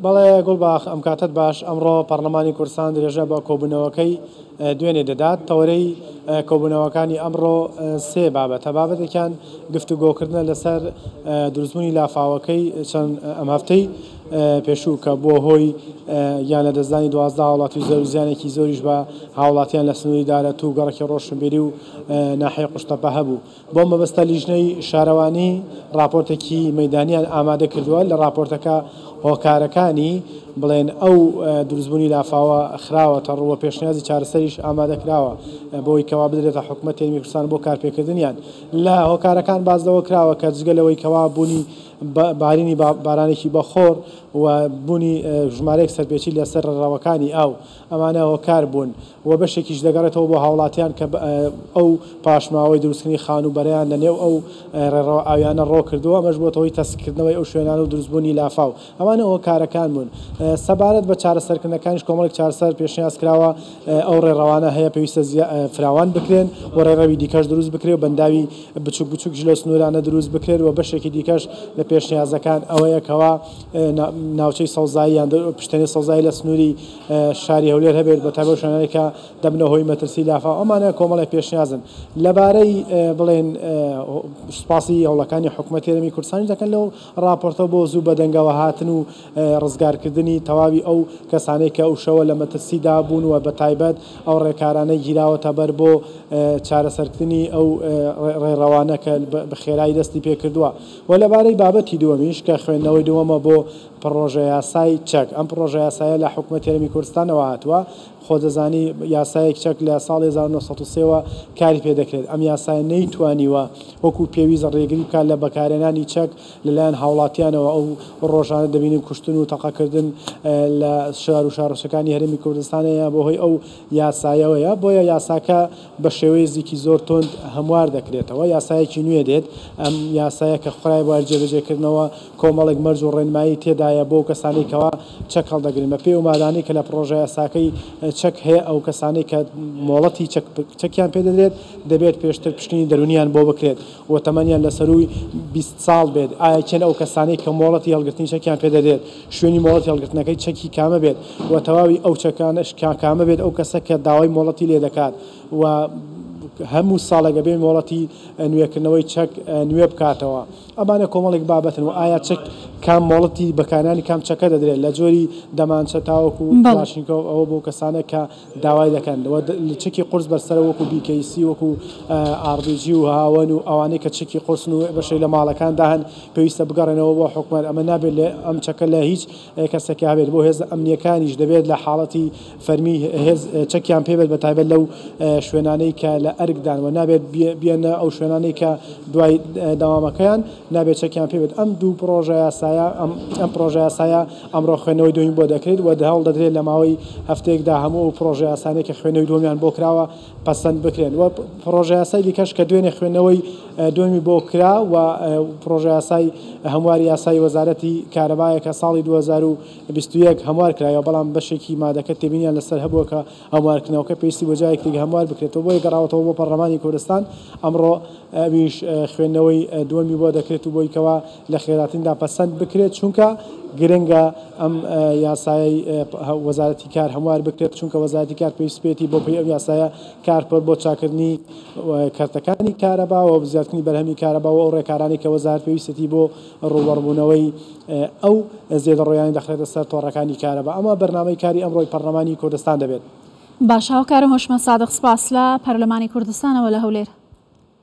بەڵێ گوڵباخ ئەم کاتەت باش. ئەمڕۆ پەرلەمانی کوردستان درێژە بە کۆبوونەوەکەی دوێنێ دەدات. تەوەرەی کۆبوونەوەکانی ئەمڕۆ سێ بابەتە. بابەتێکیان گفتوگۆکردنە لەسەر دروستبوونی لافاوەکەی چەند ئەم هەفتەی پێشوو کە بووە هۆی گیان لەدەستدانی 12 هاوڵاتی و زەرەر و زیانێکی زۆریش بە هاوڵاتیان لە سنووری دارەتوو و گەڕەکی ڕۆشنبیری و ناحیەی قوشتەپە هەبوو. بۆ مەبەستە لیژنەی شارەوانی ڕاپۆرتێکی مەیدانیان ئامادە کردووە، لە ڕاپۆرتەکە هۆکارەکانی بڵێن ئەو دروستبوونی لافاوە خراوەتە ڕوو و پێشنیازی چارەسەریش ئامادە کراوە بۆی کەوا بدرێتە حکومەتی هەرێمی کوردستان بۆ کارپێکردنیان. لە هۆکارەکان باس لەوە کراوە کە جگە لەوەی کەوا بوونی بارینی بارانێکی بەخۆڕ و بوونی ژمارەیەک سەرپێچی لەسەر ڕێڕەوەکانی ئاو ئەمانە هۆکار بوون و بەشێکیش دەگەڕێتەوە بۆ هاوڵاتیان کە ئەو پاشماوەی دروستکردنی خانووبەرەیان لە نێو ئەو ڕێڕەوە ئاویانە ڕۆ کردووە، ئەمەش بووەتە هۆی تەسککردنەوەی ئەو شوێنانە و دروستبوونی لافاو. ئەمانە هۆکارەکان بوون. سەبارەت بە چارەسەرکردنەکانیش کۆمەڵێک چارەسەر پێشنیاز کراوە، ئەو ڕێڕەوانە هەیە پێویستە فراوان بکرێن و ڕێڕەوی دیکەش دروست بکرێت و بەنداوی بچووک بچووکیش لەو سنوورانە دروست بکرێت و بەشێکی دیکەش لە پێشنیازەکان ئەوەیە کەوا ناوچەی سەوزایی یان پشتێنەی سەوزایی لە سنووری شاری هەولێر هەبێت بە تایبەت شوێنانێک کە دەبنە هۆی مەترسی لافاو ئەمانە کۆمەڵێک پێشنیازن لەبارەی بڵێن سوپاسی هەوڵەکانی حکوومەتی هەرێمی کوردستانیش دەکەن لەو ڕاپۆرتە بۆ زوو بەدەنگەوە هاتن و ڕزگارکردنی تەواوی ئەو کەسانەی کە ئەو شەوە لە مەترسیدا بوون و بە تایبەت ئەو ڕێکارانەی گیراوەتە بەر بۆ چارەسەرکردنی ئەو ڕێڕەوانە کە بە خێرایی دەستی پێکردووە و لەبارەی بابەتی دووەمیش کە خوێندنەوەی دووەمە بۆ پڕۆژەیاسای چەک، ئەم پڕۆژەیاسایە لە حکومەتی هەرێمی کوردستانەوە هاتووە، خۆ دەزانی یاسایەک چەک لە ساڵی 1903 وە کاری پێ دەکرێت، ئەم یاسایە نەیتوانیوە وەکو پێویست ڕێگری بکات لە بەکارهێنانی چەک لەلایەن هاوڵاتیانەوە، ئەو ڕۆژانە دەبینین کوشتن و تەقەکردن لە شار و شارۆچکەکانی هەرێمی کوردستان هەیە بەهۆی ئەو یاسایەوەیە، بۆیە یاساکە بە شێوەیەزیکی زۆر توند هەموار دەکرێتەوە، یاسایەکی نوێ دێت، ئەم یاسایە کە خرایە بواری جێبەجێکردنەوە کۆمەڵێک مەرج و ڕێنمایی تێدایە بۆ ئەو کەسانەی کەوا چەک هەڵدەگرن، بە پێی ئەو مادانەی کە لە پڕۆژەیاساکەی چەک هەیە ئەو کەسانەی کە مۆڵەتی چەک چەکیان پێ دەدرێت دەبێت پێشتر پشکنینی دەروونیان بۆ بکرێت و تەمەنیان لە سەرووی 20 ساڵ بێت، ئایا کێن ئەو کەسانەی کە مۆڵەتی هەڵگرتنی چەکیان پێ دەدرێت، شوێنی مۆڵەتی هەڵگرتنەکەی چەکی کامە بێت و تەواوی ئەو چەکانەش کامە بێت ئەو کەسە کە داوای مۆڵەتی لێ دەکات و هەموو ساڵێک ئەبێ مۆڵەتی نوێکردنەوەی چەک نوێ بکاتەوە. ئەمانە کۆمەڵێک بابەتن و ئایا چەک کام مۆڵەتی بەکارهێنانی کام چەکە دەدرێت لە جۆری دەمانچە تاوەکو کڵاشینکۆف ئەوە بۆ کەسانە کە داوای دەکەن و چەکی قورس بەرسەرە وەکو BKC وەکو RPG و هاوەن و ئەوانەی کە چەکی قورسن و بەشێک لە ماڵەکاندا هەن پێویستە بگەڕێنەوە بۆ حکومەت ئەمە نابێت لە ئەم چەکە لە هیچ کەسێکا هەبێت بۆ هێزە ئەمنییەکانیش دەبێت لە حاڵەتی فەرمی هێز چەکیان پێ بێت بە تایبەت لەو شوێنانەی کە لە ئەرکدان و نابێت بێنە ئەو شوێنانەی کە دوای دەوامەکەیان نابێت چەکیان پێ بێت ئەم دوو پڕۆژە یاسایە ئەم پڕۆژە یاسایە ئەمڕۆ خوێندنەوەی دووەمی بۆ دەکرێت و هەوڵ دەدرێت لە ماوەی هەفتەیەکدا هەموو ئەو پڕۆژە یاسانەی کە خوێندنەوەی دووەمیان بۆ کراوە پەسەند بکرێن و پڕۆژە یاسای دیکەش کە دوێنێ خوێندنەوەی دووەمی بۆ کرا و پڕۆژە یاسای هەمواری یاسای وەزارەتی کارەبایە کە ساڵی 2021 هەموار کرایەوە بەڵام بەشێکی مادەکە تێبینیان لەسەر هەبووە کە هەموارکردنەوەکە پێویستی بۆ جارێکی دیکە هەموار بکرێتەوە بۆیە گەڕاوەتەوە بۆ پەرلەمانی کوردستان ئەمڕۆ ئەویش خوێندنەوەی دووەمی بۆ دەکرێت و بۆی کەوا لە خێراتریندا پەسەند بکرێت چونکە گرنگە ئەم یاسایەی وەزارەتی کار هەموار بکرێت چونکە وەزارەتی کار پێویست پێیەتی بۆ پێی ئەو یاسایە کار بکات بۆ چاکردنی کەرتەکانی کارەبا و زیادکردنی بەرهەمی کارەبا و ئەو ڕێکارانەی کە وەزارەت پێویستێتی بۆ ڕووبەڕووبوونەوەی ئەو زێدەڕۆیانەی دەخرێتە سەر تۆڕەکانی کارەبا. ئەمە بەرنامەی کاری ئەمڕۆی پەرلەمانی کوردستان دەبێت. باشە هاوکارم هۆشمەند سادق سپاس لە پەرلەمانی کوردستانەوە لە هەولێر.